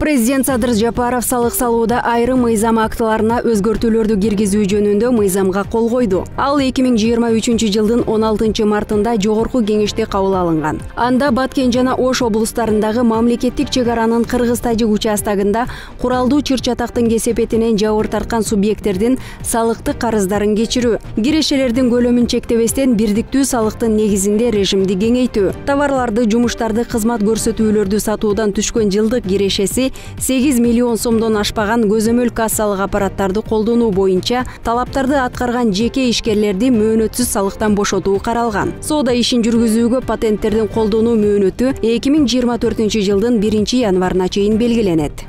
Президент Садыр Жапаров салык салууда айрым мыйзам актыларына өзгөртүүлөрдү киргизүү жөнүндө мыйзамга кол койду. Ал 2023 жылдын 16 мартында жогорку кеңеште кабыл алынган. Анда Баткен жана Ош облустарындагы мамлекеттик чек аранын кыргыз-тажик участагында куралдуу чыр-чатактын кесепетинен жабыр тарткан субъекттердин салыктык карыздарын кечирүү, кирешелердин көлөмүн чектебестен бирдиктүү салыктын негизинде режимди кеңейтүү, товарларды, жумуштарды, кызмат көрсөтүүлөрдү сатуудан түшкөн жылдык кирешеси 8 миллион сомдон ашпаган көзөмөл кассалык аппараттарды колдонуу боюнча талаптарды аткарган жеке ишкерлерди мөөнөтсүз салыктан бошотуу каралган. Соода ишин жүргүзүүгө патенттердин колдонуу мөөнөтү 2024 жылдын 1 январына чейин белгиленет.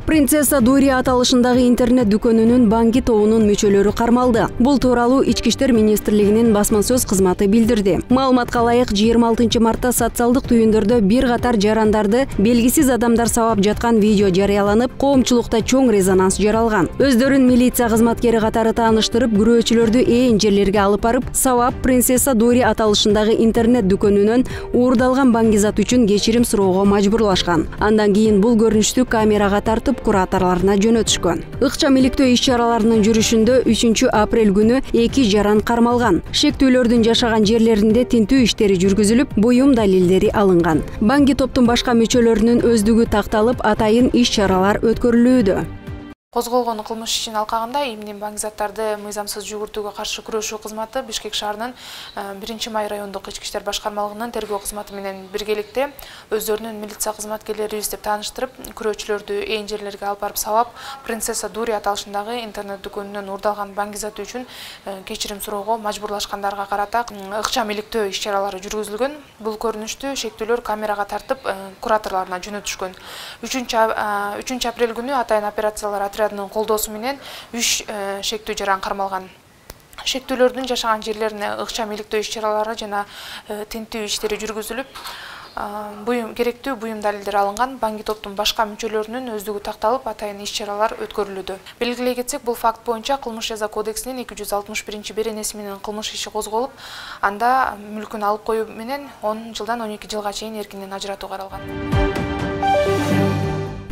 Принцесса Дури аталышындагы интернет дүкөнүнүн банки тобунун мүчөлөрү кармалды. Бул тууралуу Ички иштер министрлигинин басма сөз кызматы билдирди. Маалыматка ылайык 26 мартта социалдык түйүндөрдө бир катар жарандарды белгисиз адамдар сабап жаткан видео жарыяланып, коомчулукта чоң резонанс жаралган. Өздөрүн милиция кызматкери катары тааныштырып, күрөөчүлөрдү ээн жерлерге алып барып, сабап Принцесса Дури аталышындагы интернет дүкөнүнөн уурдалган баңгизат үчүн кечирим суроого мажбурлашкан. Андан кийин бул көрүнүштү камерага тартып кураторлоруна жөнөтүшкөн. Ыкчам иликтөө иш-чараларынын жүрүшүндө 3 апрель күнү 2 жаран кармалган. Шектүүлөрдүн жашаган жерлеринде тинтүү иштери жүргүзүлүп, буюм далилдери алынган. Банки топтун башка мүчөлөрүнүн өздүгү такталып, атайын иш-чаралар өткөрүлүүдө. Козголгон кылмыш ишин алкагында эмне баңгизаттарды мыйзамсыз жүгүртүүгө каршы күрөшүү кызматы Бишкек шаарынын 1-май райондук ички иштер башкармалыгынын тергөө кызматы менен биргеликте өздөрүнүн милиция кызматкерлерибиз деп тааныштырып, күрөөчүлөрдү ээн жерлерге алып барып сабап, Принцесса Дури аталышындагы интернет дүкөнүнөн уурдалган баңгизат үчүн кечирим суроого мажбурлашкандарга карата ыкчам иликтөө иш-чаралары жүргүзүлгөн. Бул көрүнүштү шектүүлөр камерага тартып, кураторлоруна жөнөтүшкөн. 3 апрель күнү атайын операциялар отрядынын колдоосу менен 3 шектүү жаран кармалган. Шектүүлөрдүн жашаган жерлерине ыкчам иликтөө иш-чаралары жана тинтүү иштери жүргүзүлүп, керектүү буюм далилдер алынган. Банки топтун башка мүчөлөрүнүн өздүгү такталып, атайын иш-чаралар өткөрүлүүдө. Белгилей кетсек, бул факт боюнча Кылмыш жаза кодексинин 261-беренеси менен кылмыш иши козголуп, анда мүлкүн алып коюу менен 10 жылдан 12 жылга чейин эркинен ажыратуу каралган.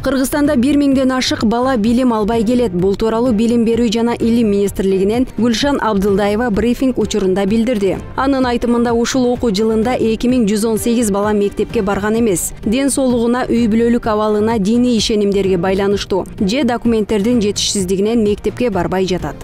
Кыргызстанда 1000ден ашык бала билим албай келет. Бул тууралуу Билим берүү жана илим министрлигинен Гүлшан Абдылдаева брифинг учурунда билдирди. Анын айтымында ушул окуу жылында 2118 бала мектепке барган эмес. Ден соолугуна, үй бүлөлүк абалына, диний ишенимдерге байланыштуу же документтердин жетишсиздигинен мектепке барбай жатат.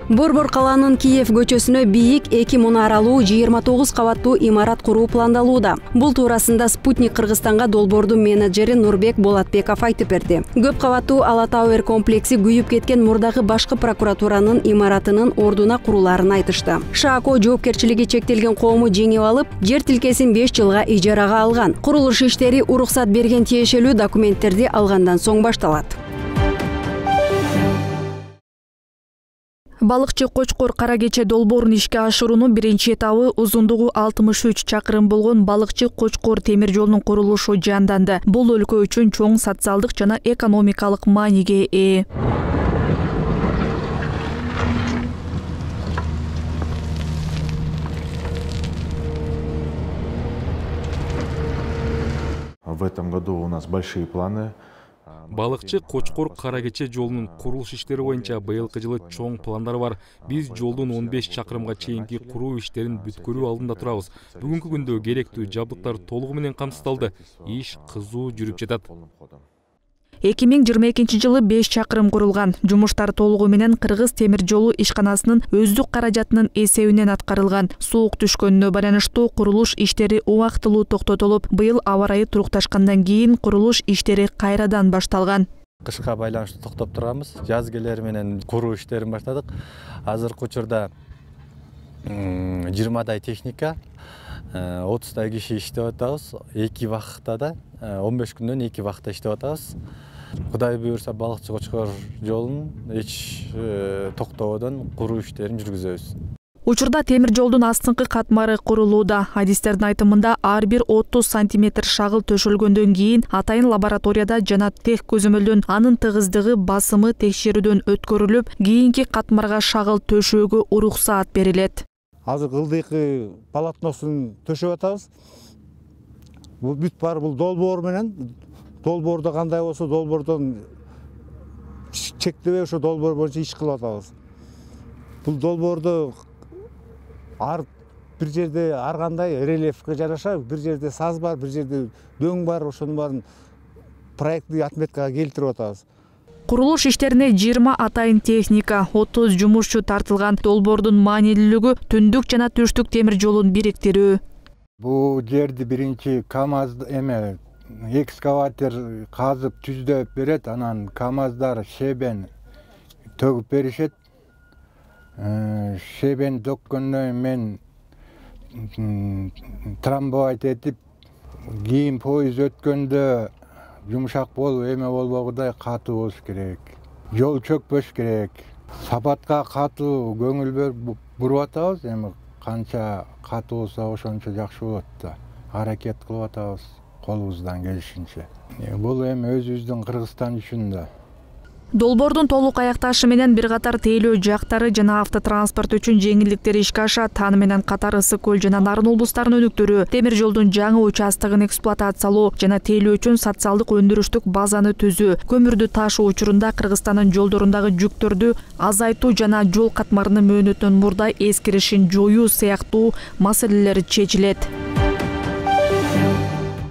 Борбор калаанын Киев көчөсүнө бийик 2 мунаралуу 29 кабаттуу имарат куруу пландалууда. Бул туурасында Спутник Кыргызстанга долбоордун менеджери Нурбек Болотбеков айтып берди. Көп кабаттуу Ала Тауэр комплекси күйүп кеткен мурдагы башкы прокуратуранын имаратынын ордуна куруларын айтышты. ШАКО жоопкерчилиги чектелген коому жеңип алып, жер тилкесин 5 жылга ижарага алган. Курулуш иштери уруксат берген тиешелүү документтерди алгандан соң башталат. Балыкчы Кочкор Кара Кече долбоорун ишке ашыруунун биринчи этабы узундугу 63 чакырым болгон Балыкчы Кочкор темир жолунун курулушу жанданды. Бул өлкө үчүн чоң социалдык жана экономикалык мааниге ээ. В этом году у нас большие планы. Балыкчы Кочкор Кара Кече жолунун курулуш иштери боюнча быйылкы жылы чоң пландар бар. Биз жолдун 15 чакырымга чейинки куруу иштерин бүткөрүү алдында турабыз. Бүгүнкү күндө керектүү жабдыктар толугу менен камсыздалды. Иш кызуу жүрүп жатат. 2022 жылы 5 чакырым курулган. Жумуштар толугу менен Кыргыз темир жолу ишканасынын өздүк каражатынын эсебинен аткарылган. Суук түшкөнүнө байланыштуу курулуш иштери убактылуу токтотулуп, быйыл аба ырайы турукташкандан кийин курулуш иштери кайрадан башталган. Кышка байланыштуу токтоп турганбыз. Жаз келери менен куруу иштерин баштадык. Азыркы учурда 20 техника, 30 киши иштеп атабыз. 2 вакытта да 15 күндөн 2 вакытта иштеп атабыз. Кудай буйрса Балыкчы Кочкор жолун эч токтободон куруу иштерин жүргүзөбүз. Учурда темир жолдун астыңкы катмары курулууда. Адистердин айтымында ар бир 30 сантиметр шагыл төшөлгөндөн кийин атайын лабораторияда жана тех көзөмөлдөн анын тыгыздыгы, басымы текшерүүдөн өткөрүлүп, кийинки катмарга шагыл төшөөгө уруксаат берилет. Азыр ылдыйкы полотносун төшөп атабыз. бул бүт бар бул долбоор менен, долбоордо кандай болсо долбоордон чектебей ошо долбоор боюнча иш кылып атабыз. Бул долбоордо бир жерде ар кандай рельефке жараша, бир жерде саз бар, бир жерде дөң бар, ошонун баарын проекттик отметкага келтирип атабыз. Курулуш иштерине 20 атайын техника, 30 жумушчу тартылган. Долбоордун маанилүүлүгү түндүк жана түштүк темир жолун бириктирүү. Бул жерди биринчи КАМАЗ экскаватор казып түздөп берет, анан КАМАЗдар шебен төгүп беришет. Шебен төккөндөн мен трамбовать этип, кийин поезд өткөндө жумшак болуп, эме болбогудай катуу болуш керек. Жол чөкпөш керек. Сапатка катуу көңүл буруп атабыз, эми канча катуу болсо ошончо жакшы болот да. Аракет кылып атабыз колубуздан келишинче. Бул эми өзүбүздүн Кыргызстан үчүн да. Долбоордун толук аякташы менен бир катар тейлөө жактары жана автотранспорт үчүн жеңилдиктер ишке ашат. Аны менен катар Ысык көл жана Нарын облустарынын өнүктүрүү, темир жолдун жаңы участогун эксплуатациялоо жана тейлөө үчүн социалдык өндүрүштүк базаны түзүү, көмүрдү ташуу учурунда Кыргызстандын жолдорундагы жүктөрдү азайтуу жана жол катмарынын мөөнөтүнөн мурда эскиришин жоюу сыяктуу маселелер чечилет.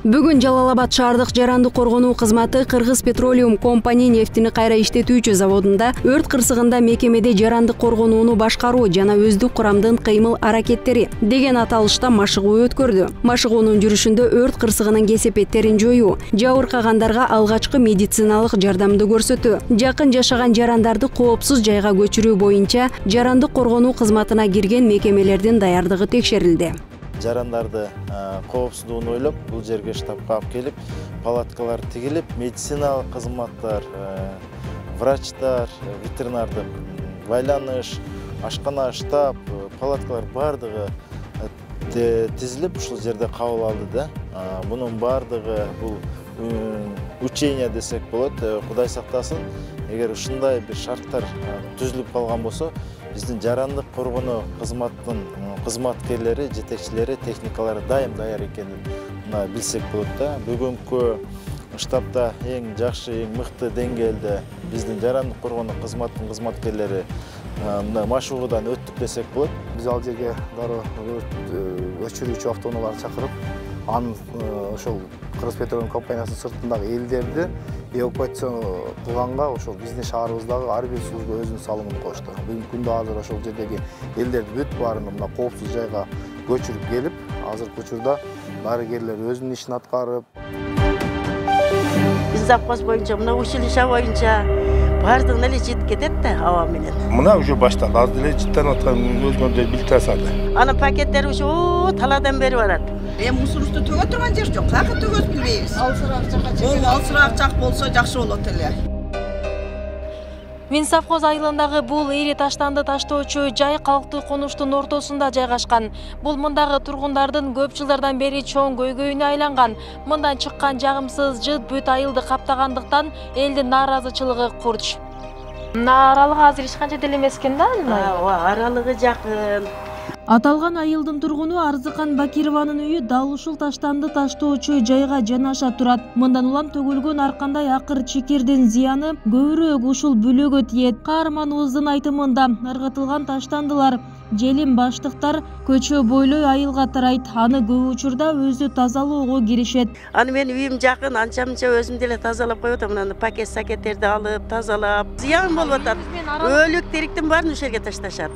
Бүгүн Жалал-Абад шаардык жарандык коргонуу кызматы Кыргыз Петролиум компания нефтини кайра иштетүүчү заводунда өрт кырсыгында мекемеде жарандык коргонууну башкаруу жана өздүк курамдын кыймыл аракеттери деген аталышта машыгуу өткөрдү. Машыгуунун жүрүшүндө өрт кырсыгынын кесепеттерин жоюу, жабыркагандарга алгачкы медициналык жардамды көрсөтүү, жакын жашаган жарандарды коопсуз жайга көчүрүү боюнча жарандык коргонуу кызматына кирген мекемелердин даярдыгы текшерилди. Жарандарды коопсуздугун ойлоп, бул жерге штабка алып келип, палаткалар тигилип, медициналык кызматтар, врачтар, ветеринардык байланыш, ашкана, штаб, палаткалар бардыгы тизилип ушул жерде кабыл алды да. Мунун бардыгы бул учение десек болот. Кудай сактасын, эгер ушундай бир шарттар түзүлүп калган болсо, биздин жарандык коргонуу кызматтын кызматкерлери, жетекчилери, техникалары дайым даяр экенин билсек болот да. Бүгүнкү штабда эң жакшы, эң мыкты деңгээлде биздин жарандык коргонуу кызматтын кызматкерлери машыгуудан өттүк десек болот. Биз ал жерге дароо өчүрүүчү автоунааларды чакырып, анын ошол Кыргыз Петролиум компаниясынын сыртындагы элдерди эвакуация кылганга ошол биздин шаарыбыздагы ар бир служба өзүнүн салымын кошту. Бүгүнкү күндө азыр ошол жердеги элдерди бүт баарын мына коопсуз жайга көчүрүп келип, азыркы учурда дарыгерлер өзүнүн ишин аткарып. Биз запас боюнча, мына училище боюнча баардыгына эле жетип кетет да аба менен. Мына уже башталды, аз деле жыттанып аткан өзгөндө билип турасады. Анын пакеттери уже талаадан бери барат. Мусорубузду төгө турган жер жок, каяка төгөбүз билбейбиз. Алсыраак жак болсо жакшы болот эле. Минсовхоз айылындагы бул ири таштанды таштоочу жай калктуу конуштун ортосунда жайгашкан. Бул мындагы тургундардын көп жылдардан бери чоң көйгөйүнө айланган. Мындан чыккан жагымсыз жыт бүт айылды каптагандыктан элдин нааразычылыгы курч. Мына аралыгы азыр эч канча деле эмес экен да? Аралыгы жакын. Аталган айылдын тургуну Арзыкан Бакированын үйү дал ушул таштанды таштоочу жайга жанаша турат. Мындан улам төгүлгөн ар кандай акыр чекердин зыяны көбүрөөк ушул бүлөгө тиет. Каарманыбыздын айтымында ыргытылган таштандылар желим баштыктар көчө бойлой айылга тарайт. Аны көп учурда өзү тазалоого киришет. Аны мен үйүм жакын, анча-мынча өзүм деле тазалап коюп атам. Мына пакет-сакеттерди алып, тазалап. Зыян болуп атат. Өлүк териктин баарын ушул жерге ташташат.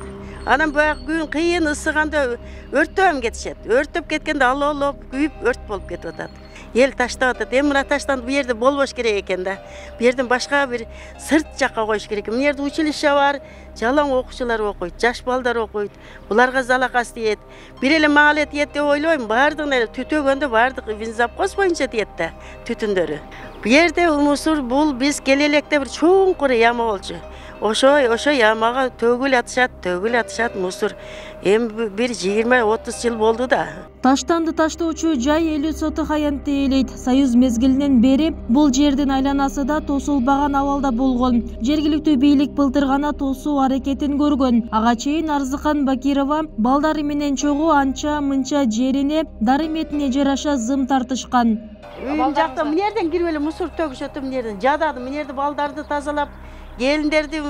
Анан баягы күн кыйын ысыганда өрттөп кетишет. Өрттөп кеткенде алып күйүп өрт болуп кетип атат. Эл таштап атат. Эми мына таштанды бу жерде болбош керек экен да. Бу жерден башка бир сырт жакка коюш керек. Мына жерде училище бар, жалаң окуучулар окуйт, жаш балдар окуйт. Буларга залакасы тиет. Бир эле мага эле тиет деп ойлойм. Бардыгына эле түтөгөндө бардык Винзапхоз боюнча тиет да түтүндөрү. Бу жерде мусор бул биз келе электе бир чоңкур яма болчу. ошо ямага төгүл атышат мусор. Эми бир 20-30 жыл болду да. Таштанды таштоочу жай элүү соток аянтты ээлейт. Союз мезгилинен бери бул жердин айланасы да тосулбаган абалда болгон. Жергиликтүү бийлик былтыр гана тосуу аракетин көргөн. Ага чейин Арзыкан Бакирова балдары менен чогуу анча мынча жерине дары метине жараша зым тартышкан. Үйүн жакта мынерден кирип эле мусор төгүшөт, мынерден жададым, мынерде балдарды тазалап, келиндерди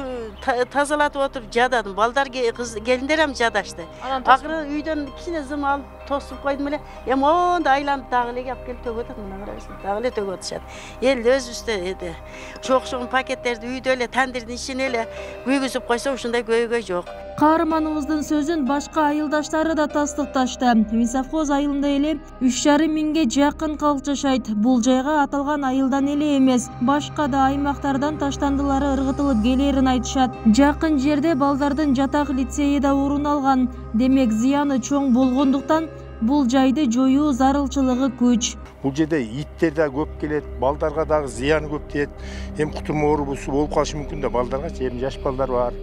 тазалатып отуруп жададым. Балдар келиндер ham жадашты. Акыры үйдөн кичине зым алып тосуп койдум эле. Эми монда айланып дагы эле келип төгүп атат, мына карайсың. Дагы эле төгүп атышат. Эл өзүбүздө чоң пакеттерди үйдө эле тандырдын ичине эле күйгүзүп койсо ушундай көйгөй жок. Каарманыбыздын сөзүн башка айылдаштары да тастыкташты. Минсовхоз айылында эле 3,5 миңге жакын калк жашайт. Бул жайга аталган айылдан эле эмес, башка да аймактардан таштандылары ыргытылып келерин айтышат. Жакын жерде балдардын жатак лицейи да орун алган. Демек зыяны чоң болгондуктан бул жайды жоюу зарылчылыгы күч. Бул жерде иттер да көп келет, балдарга дагы зыяны көп тиет. Эми кутурма оорусу болуп калышы мүмкүн да балдарга, эми жаш балдар бар.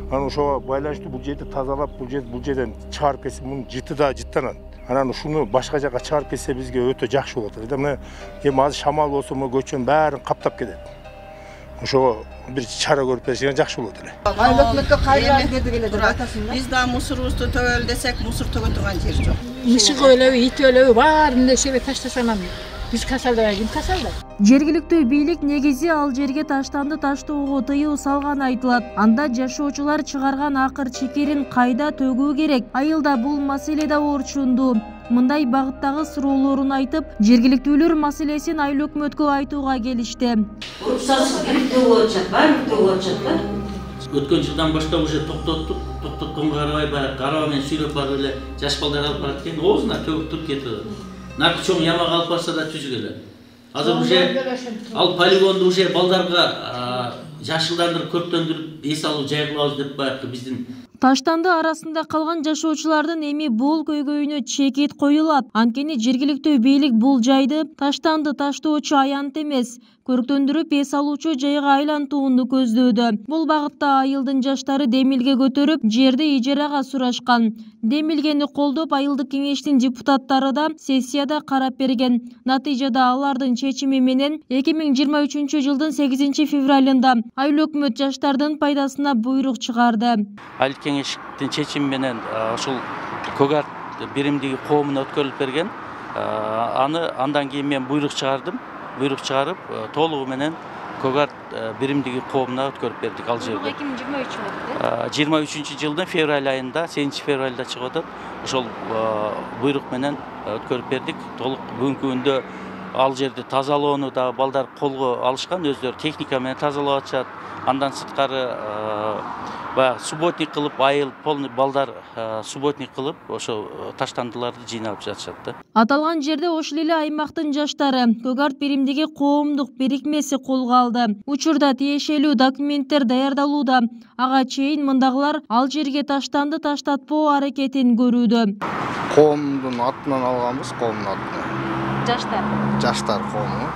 Анан ошого байланыштуу бул жерди тазалап, бул жерден чыгарып кетсе, мунун жыты да жыттанат. Анан ушуну башка жака чыгарып кетсе бизге өтө жакшы болот. Мына эми азыр шамал болсо, көчөнүн баарын каптап кетет. Ошого бир чара көрүп берсе жакшы болот эле. Өкмөткө кайра деди келе деп атасың да? Биз да мусорубузду төгөлү десек, мусор төгө турган жер жок. Мышык өлөбү, ит өлөбү баарын эсебе таштасам биз касалдабай ким касалдайт? Жергиликтүү бийлик негизи ал жерге таштанды таштоого тыюу салганы айтылат. Анда жашоочулар чыгарган акыр чекерин кайда төгүү керек? Айылда бул маселе да орчундуу. Мындай багыттагы суроолорун айтып, жергиликтүүлөр маселесин айыл өкмөткө айтууга келишти. Уруксатсыз төгүп атышат, баары төгүп атышат да. Өткөн жылдан баштап уже токтоттук. Токтотконго карабай баягы караба менен сүйлөп барып эле жаш балдар алып барат экен. Оозуна төгүп туруп кетип. Наркы чоң ямага алып барса да түзүгеле. Азыр уже ал полигонду уже балдарга жашылдандырып, көрктөндүрүп, эс алуу жай кылабыз деп баягы биздин Таштанды арасында калган жашоочулардын эми бул көйгөйүнө чекит коюлат. Анткени жергиликтүү бийлик бул жайды таштанды таштоочу аянт эмес, көрктөндүрүп эс алуучу жайга айлантууну көздөөдө. Бул багытта айылдын жаштары демилге көтөрүп, жерди ижарага сурашкан. Демилгени колдоп айылдык кеңештин депутаттары да сессияда карап берген. Натыйжада алардын чечими менен 2023 жылдын 8 февралында айыл өкмөт жаштардын пайдасына буйрук чыгарды. Айыл кеңештин чечими менен ошол Көгарт биримдиги коомуна өткөрүлүп берген. Андан кийин мен буйрук чыгардым. Буйрук чыгарып, толугу менен Көгарт биримдиги коомуна өткөрүп бердик ал жерде. 2023 жылдын февраль айында, 8 февралда чыгып атат. Ошол буйрук менен өткөрүп бердик. Толук бүгүнкү күндө ал жерди тазалоону да балдар колго алышкан, өздөрү техника менен тазалап атышат. Андан сырткары баягы субботник кылып, айыл полный балдар субботник кылып, ошо таштандыларды жыйнап жатышат да. Аталган жерде ошол эле аймактын жаштары Көгарт биримдиги коомдук бирикмеси колго алды. Учурда тиешелүү документтер даярдалууда. Ага чейин мындагылар ал жерге таштанды таштатпоо аракетин көрүүдө. Коомдун атынан алганбыз, коомдун атынан. Жаштар коому.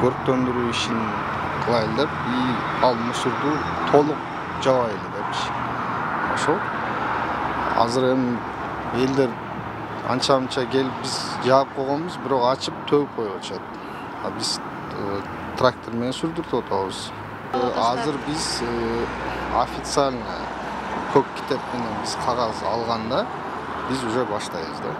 Көрктөндүрүү ишин кылайлы деп, ал мусорду толук жабайлы депчи. Ошол. Азыр эми элдер анча-мынча келип биз жаап койгонбуз, бирок ачып төгүп коюп атышат. Биз трактор менен сүрдүртүп атабыз. Азыр биз официально көк китеп менен биз кагаз алганда биз уже баштайбыз да.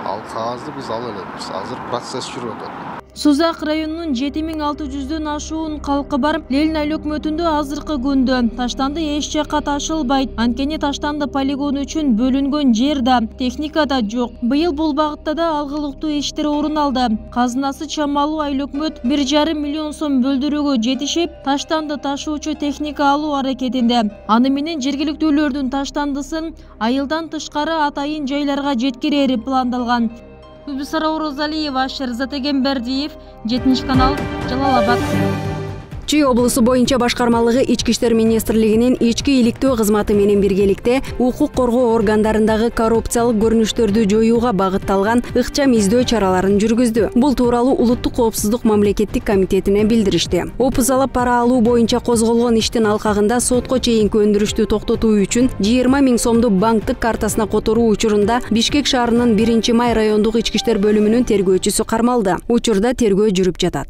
Ал кагазды биз ала элебиз. Азыр процесс жүрүп атат. Сузак районунун 7600дөн ашуун калкы бар. Лелин айыл өкмөтүндө азыркы күндө таштанды эч жакка ташылбайт. Анткени таштанды полигону үчүн бөлүнгөн жер да, техника да жок. Быйыл бул багытта да алгылыктуу иштер орун алды. Казынасы чамалуу айыл өкмөт 1,5 миллион сом бөлдүрүүгө жетишип, таштанды ташуучу техника алуу аракетинде. Аны менен жергиликтүүлөрдүн таштандысын айылдан тышкары атайын жайларга жеткирери пландалган. Гүлбүсара Орозалиева, Шерзат Эгембердиев, 7 канал, Жалал Абад. Чүй облусу боюнча башкармалыгы Ички иштер министрлигинин ички иликтөө кызматы менен биргеликте укук коргоо органдарындагы коррупциялык көрүнүштөрдү жоюуга багытталган ыкчам издөө чараларын жүргүздү. Бул тууралуу Улуттук коопсуздук мамлекеттик комитетине билдиришти. Опузалап пара алуу боюнча козголгон иштин алкагында сотко чейинки өндүрүштү токтотуу үчүн 20 000 сомду банктык картасына которуу учурунда Бишкек шаарынын 1-Май райондук ички иштер бөлүмүнүн тергөөчүсү кармалды. Учурда тергөө жүрүп жатат.